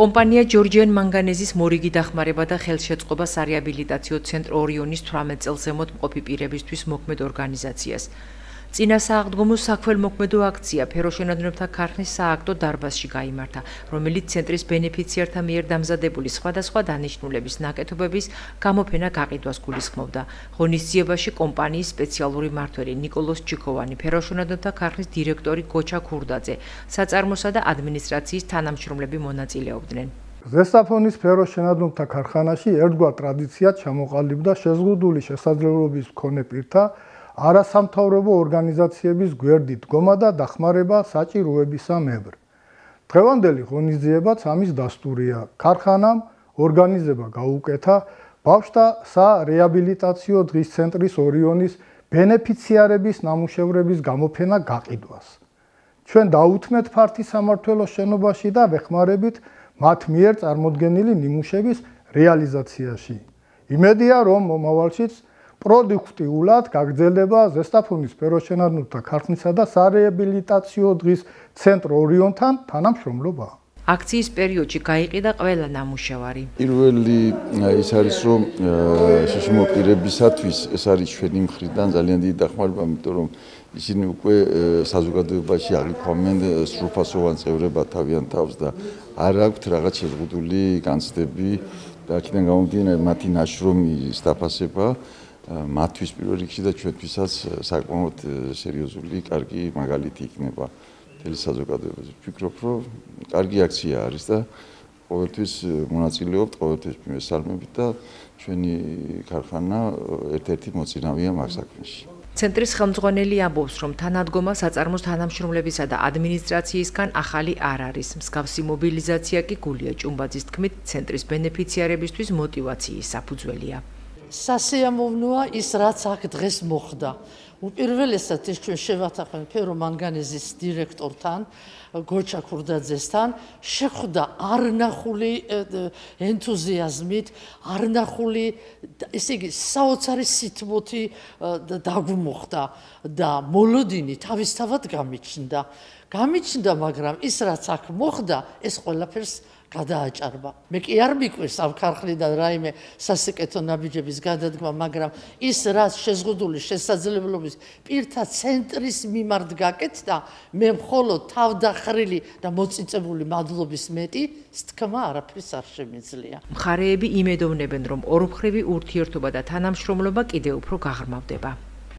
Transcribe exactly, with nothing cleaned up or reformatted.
კომპანია ჯორჯიან მანგანეზის მორიგი დახმარება და ხელშეწყობა სარეაბილიტაციო ცენტრ ორიონის თვრამეტ წელს ზემოთ მყოფი პირებისთვის მოქმედ ორგანიზაციას. წინა სააღდგომო საქველმოქმედო აქცია ფეროშენადნებთა ქარხნის სააქტო დარბაზში გაიმართა, რომელიც ცენტრის ბენეფიციართა მიერ დამზადებული სხვადასხვა დანიშნულების ნაკეთობების გამოფენა გაყიდვას გულისხმობდა. ღონისძიებაში კომპანიის სპეციალური მმართველი ნიკოლოს ჩიქოვანი, ფეროშენადნებთა ქარხნის დირექტორი გოჩა ქურდაძე, საწარმოსა და ადმინისტრაციის თანამშრომლები მონაწილეობდნენ. ზესტაფონის ფეროშენადნებთა ქარხანაში ერთგვარ ტრადიციად ჩამოყალიბდა შეზღუდული შესაძლებლობის მქონე პირთა არასამთავრობო ორგანიზაციების გვერდით დგომა და დახმარება საჭიროებისა მებრ. დღევანდელი ღონისძიებაც ამის დასტურია. ქარხანამ ორგანიზება გაუკეთა ბავშვთა სარეაბილიტაციო დღის ცენტრის ორიონის ბენეფიციარების ნამუშევრების გამოფენა გაყიდვას. ჩვენ დაუთმეთ ფართი სამმართველოს შენობაში და ვეხმარებით მათ მიერ წარმოდგენილი ნიმუშების რეალიზაციაში. იმედია, რომ მომავალშიც პროდუქტიულად გაგრძელდება ზესტაფონის ფეროშენადნებთა ქარხნისა და სარეაბილიტაციო დღის ცენტრ ორიონთან თანამშრომლობა. აქციის პერიოდში გაიყიდა ყველა ნამუშევარი. პირველი ის არის, რომ შშმ პირებისათვის ეს არის ჩვენი მხრიდან ძალიან დიდი დახმარება, იმიტომ რომ ისინი უკვე საზოგადოებაში აღიქვამენ სრულფასოვან წევრებად თავიანთ თავს და არ აქვთ რაღაც შეზღუდული განცდები და აქედან გამომდინარე მათი ნაშრომი დაფასება მათთვის პირველ რიგში და ჩვენთვისაც საკმაოდ სერიოზული, კარგი მაგალითი იქნება მთელი საზოგადოებაზე. ვფიქრობ, რომ კარგი აქცია არის და ყოველთვის მონაწილეობთ, ყოველთვის მესალმებით და ჩვენი ქარხანა ერთ-ერთი მოწინავეა მაგ საქმეში. ცენტრის ხელმძღვანელი ამბობს, რომ თანადგომა საწარმოს თანამშრომლებისა და ადმინისტრაციისგან ახალი არ არის. მსგავსი მობილიზაცია კი გულია ჭუმბაძის თქმით, ცენტრის ბენეფიციარებისთვის მოტივაციის საფუძველია. სასიამოვნოა ის, რაც აქ დღეს მოხდა. უპირველესად ეს ჩვენ შევათანხმეთ ფერომანგანეზის დირექტორთან, გოჩა ქურდაძესთან, შეხვდა არნახული ენთუზიაზმით, არნახული, ესე იგი, საოცარი სითბოთი დაგვმოხდა და მოლოდინი თავისთავად გამიჩნდა. გამიჩნდა, მაგრამ ის, რაც აქ მოხდა, ეს ყველაფერს გადააჭარბა. მე კი არ მიკვირს ამ ქარხნიდან რაიმე სასიკეთო ნაბიჯების გადადგმა, მაგრამ ის, რაც შეზღუდული შესაძლებლობის პირთა ცენტრის მიმართ გაკეთდა, მე მხოლოდ თავდახრილი და მოწიწებული მადლობის მეტი სთქმა არაფრის არ შემიძლია. მხარეები იმედოვნებენ, რომ ორმხრივი ურთიერთობა და თანამშრომლობა კიდევ უფრო გაღრმავდება.